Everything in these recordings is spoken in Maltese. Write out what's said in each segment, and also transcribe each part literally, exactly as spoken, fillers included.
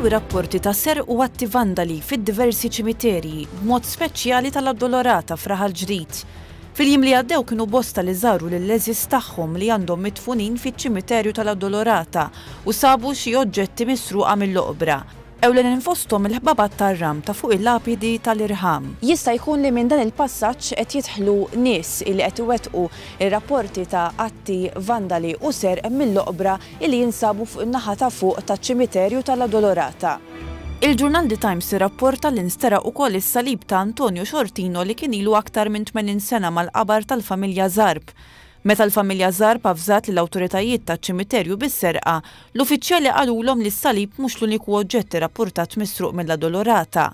Komplew ir-rapporti ta' serq u atti vandali fid-diversi ċimiterji, b'mod speċjali tal-Addolorata f'Raħal Ġdid. Fil-jiem li għaddew kienu bosta li żaru lill-għeżież tagħhom li għandhom midfunin fiċ-ċimiterju tal-Addolorata u sabu xi oġġetti misruqa mill-oqbra. Ewlenin fosthom il-ħbabat tar-ram ta' fuq il-lapidi tal-irħam. Jista' jkun li minn dan il-passaġġ qed jidħlu nies illi qed iwettqu ir-rapporti ta' atti vandali u serq mill-oqbra illi jinsabu fuq in-naħa ta' fuq taċ-ċimiterju tal-Addolorata. Il-ġurnal The Times irrapporta li nsteraq ukoll is-salib ta' Antonio Sciortino li kien ilu aktar minn tmenin sena mal-qabar tal-familja Zarb. Meta l-familja Zarb avżat lill-awtoritajiet taċ-ċimiterju bis-serqa, l-uffiċjali qalulhom li s-salib mhux l-uniku oġġett irrappurtat misruq mill-Addolorata.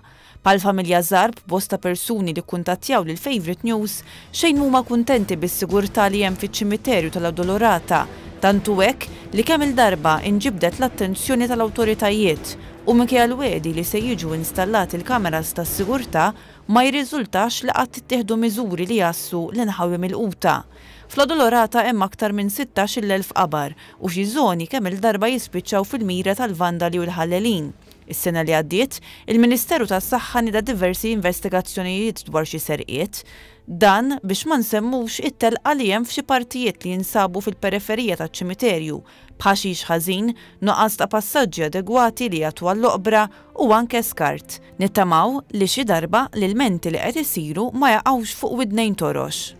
Bħall-familja Zarb, bosta persuni li kkuntattjaw lil Favourite News xejn huma kuntenti bis-sigurtà li hemm fiċ-ċimiterju tal-Addolorata, tant hu hekk li kemm il-darba inġibdet l-attenzjoni tal-awtoritajiet u minkejja l-wegħdi li se jiġu installati l-kameras tas-sigurtà ma jirriżultax li qatt ittieħdu miżuri li jgħassu l-inħawi milquta. Fl-Addolorata hemm aktar minn sittax-il elf qabar u xi żoni kemm il-darba jispiċċaw fil-mira tal-vandali u l-ħallelin. Is-sena li għaddiet, il-Ministeru tas-Saħħa nieda diversi investigazzjonijiet dwar xi serqiet. Dan biex ma nsemmux it-telqa li hemm f'xi partijiet li jinsabu fil-periferija taċ-ċimiterju, b'ħaxix ħażin, nuqqas ta' passaġġi adegwati li jagħtu għall-oqbra u anke skart. Nittamaw li xi darba l-ilmenti li qed isiru ma jaqgħux fuq widnejn torox.